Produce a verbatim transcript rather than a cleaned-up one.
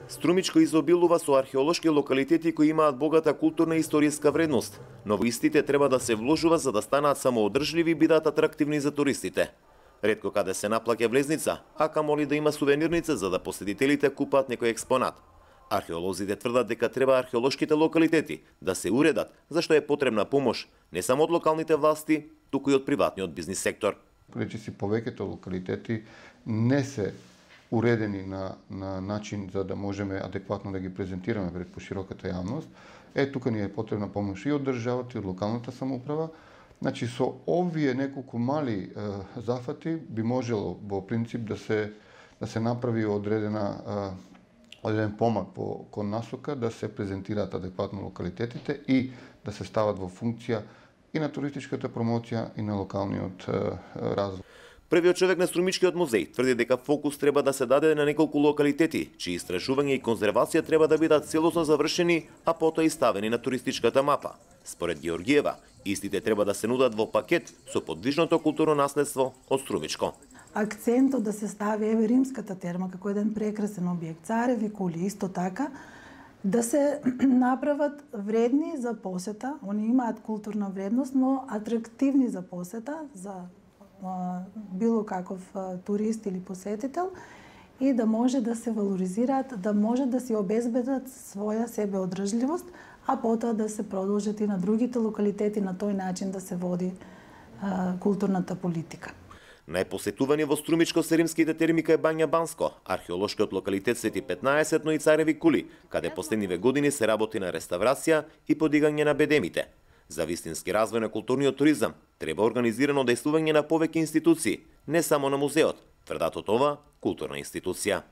Струмичко изобилува со археолошки локалитети кои имаат богата културна и историска вредност, но во истите треба да се вложува за да станаат самоодржливи и бидат атрактивни за туристите. Ретко каде се наплаќа влезница, а камоли да има сувенирница за да посетителите купат некој експонат. Археолозите тврдат дека треба археолошките локалитети да се уредат, зашто е потребна помош не само од локалните власти, туку и од приватниот бизнис сектор. Речиси повеќето локалитети не се уредени на, на начин за да можеме адекватно да ги презентираме пред пошироката јавност. Е, тука ни е потребна помош и од државата, и од локалната самоуправа. Значи, со овие неколку мали е, зафати би можело во принцип да се, да се направи одредена е, одреден помак по кон насока да се презентираат адекватно локалитетите и да се стават во функција и на туристичката промоција и на локалниот е, развој. Првиот човек на Струмичкиот музеј тврди дека фокус треба да се даде на неколку локалитети, чии истражување и конзервација треба да бидат целосно завршени, а потоа и ставени на туристичката мапа. Според Георгиева, истите треба да се нудат во пакет со подвижното културно наследство од Струмичко. Акцентот да се стави еве римската терма како еден прекрасен објект, цареви кули исто така, да се направат вредни за посета, они имаат културна вредност, но атрактивни за посета, за било каков турист или посетител, и да може да се валоризираат, да може да си обезбедат своја себеодржливост, а потоа да се продолжат и на другите локалитети на тој начин да се води а, културната политика. Најпосетувани во Струмичко се римските терми кај Бања Банско, археолошкиот локалитет Свети петнаесет, но и Цареви кули, каде последниве години се работи на реставрација и подигање на бедемите. За вистински развој на културниот туризам треба организирано дејствување на повеќе институции, не само на музеот, тврдат од ова културна институција.